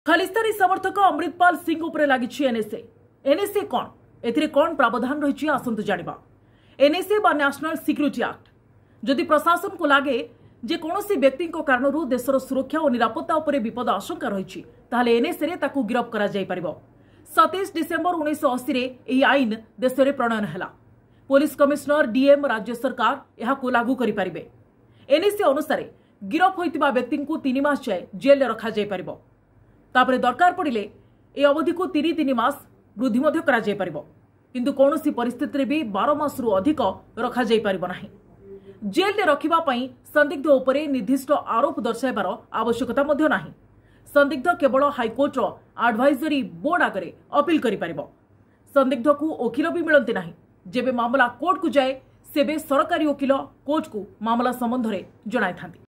ଖାଲିସ୍ତାନୀ ସମର୍ଥକ ଅମୃତପାଲ ସିଂ ଉପରେ ଲାଗିଛି ଏନ୍ଏସ୍ଏ। ଏନ୍ଏସ୍ଏ କ'ଣ, ଏଥିରେ କ'ଣ ପ୍ରାବଧାନ ରହିଛି, ଆସନ୍ତୁ ଜାଣିବା। ଏନ୍ଏସ୍ଏ ବା ନ୍ୟାସନାଲ ସିକ୍ୟୁରିଟି ଆକ୍ଟ। ଯଦି ପ୍ରଶାସନକୁ ଲାଗେ ଯେ କୌଣସି ବ୍ୟକ୍ତିଙ୍କ କାରଣରୁ ଦେଶର ସୁରକ୍ଷା ଓ ନିରାପତ୍ତା ଉପରେ ବିପଦ ଆଶଙ୍କା ରହିଛି, ତାହେଲେ ଏନ୍ଏସ୍ଏରେ ତାକୁ ଗିରଫ କରାଯାଇପାରିବ। 27 ଡିସେମ୍ବର 1980ରେ ଏହି ଆଇନ ଦେଶରେ ପ୍ରଣୟନ ହେଲା। ପୋଲିସ କମିଶନର, ଡିଏମ୍, ରାଜ୍ୟ ସରକାର ଏହାକୁ ଲାଗୁ କରିପାରିବେ। ଏନ୍ଏସ୍ଏ ଅନୁସାରେ ଗିରଫ ହୋଇଥିବା ବ୍ୟକ୍ତିଙ୍କୁ 3 ମାସ ଯାଏ ଜେଲ୍ରେ ରଖାଯାଇପାରିବ। ତାପରେ ଦରକାର ପଡ଼ିଲେ ଏହି ଅବଧିକୁ 3 3 ମାସ ବୃଦ୍ଧି ମଧ୍ୟ କରାଯାଇପାରିବ, କିନ୍ତୁ କୌଣସି ପରିସ୍ଥିତିରେ ବି 12 ମାସରୁ ଅଧିକ ରଖାଯାଇପାରିବ ନାହିଁ। ଜେଲ୍ରେ ରଖିବା ପାଇଁ ସନ୍ଦିଗ୍ଧ ଉପରେ ନିର୍ଦ୍ଦିଷ୍ଟ ଆରୋପ ଦର୍ଶାଇବାର ଆବଶ୍ୟକତା ମଧ୍ୟ ନାହିଁ। ସନ୍ଦିଗ୍ଧ କେବଳ ହାଇକୋର୍ଟର ଆଡଭାଇଜରୀ ବୋର୍ଡ ଆଗରେ ଅପିଲ କରିପାରିବ। ସନ୍ଦିଗ୍ଧକୁ ଓକିଲ ବି ମିଳନ୍ତି ନାହିଁ। ଯେବେ ମାମଲା କୋର୍ଟକୁ ଯାଏ, ସେବେ ସରକାରୀ ଓକିଲ କୋର୍ଟକୁ ମାମଲା ସମ୍ବନ୍ଧରେ ଜଣାଇଥାନ୍ତି।